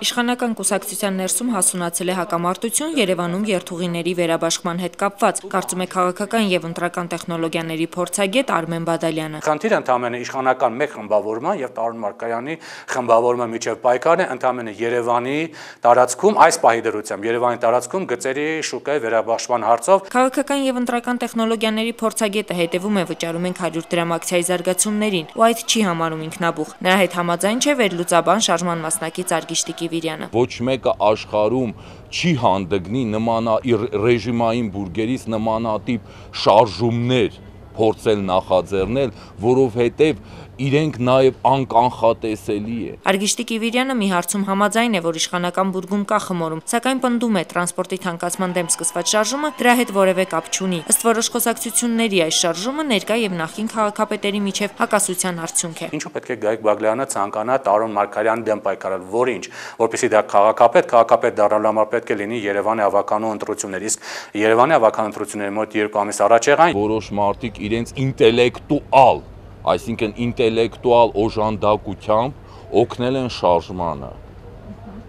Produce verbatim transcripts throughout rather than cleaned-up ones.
Իշխանական կուսակցության ներսում հասունացել է հակամարտություն Երևանում երթուղիների վերաբաշխման հետ կապված, կարծում է քաղաքական եւ ընտրական տեխնոլոգիաների փորձագետ Արմեն Բադալյանը։ Խնդիրը ընդամենը իշխանական մեկ խմբավորման եւ Տարոն Մարկարյանի խմբավորման միջև պայքարն է ընդամենը Երևանի տարածքում, այս պահի դրությամբ Երևանի տարածքում գծերի շուկայի վերաբաշխման հարցով։ Քաղաքական եւ ընտրական տեխնոլոգիաների փորձագետը հետևում է վճարում ենք հարյուր դրամ ակցիայի զարգացումներին, ու այդ չի համարում ինքնաբուխ։ Նրա հետ համաձայն չէ վերլուծաբան շարժման մասնակից Արգիշտիկ Կիվիրյանը։ Ոչ մեկը աշխարհում չի հանդգնի նմանա ռեժիմային բուրգերից նմանատիպ շարժումներ փորձել նախաձեռնել, որովհետև իրենք նաև անկանխատեսելի է։ Արգիշտիկ Կիվիրյանը մի հարցում համաձայն է, որ իշխանական բուրգում կա խմորում, սակայն պնդում է տրանսպորտի թանկացման դեմ սկսված շարժումը դրա հետ որևէ կապ չունի։ Ըստ որոշ խոսակցությունների այս շարժումը ներկա եւ նախկին քաղաքապետերի միջև հակասության արդյունք է։ Ինչու պետք է Գայիկ Բաղդասարյանը ցանկանա Տարոն Մարկարյանի դեմ պայքարել, որինչ, որպեսզի դա քաղաքապետ, քաղաքապետ դառնալու համար պետք է լինի Երևանի ավականու ընտրություններ, իսկ Երևանի ավականու ընտրությունների մոտ երկու ամիս առաջ եղան որոշ մարդիկ իրենց ինտելեկտուալ, այսինքն ինտելեկտուալ օժանդակությամբ օգնել են շարժմանը,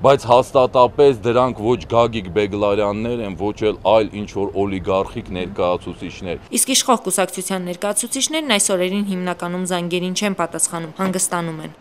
բայց հաստատապես դրանք ոչ Գագիկ Բեգլարյաններ են, ոչ էլ այլ ինչ-որ օլիգարխիկ ներկայացուցիչներ։ Իսկ իշխող կուսակցության ներկայացուցիչներն այս օրերին հիմնականում զանգերին չեն պատասխանում, հանգստանում են։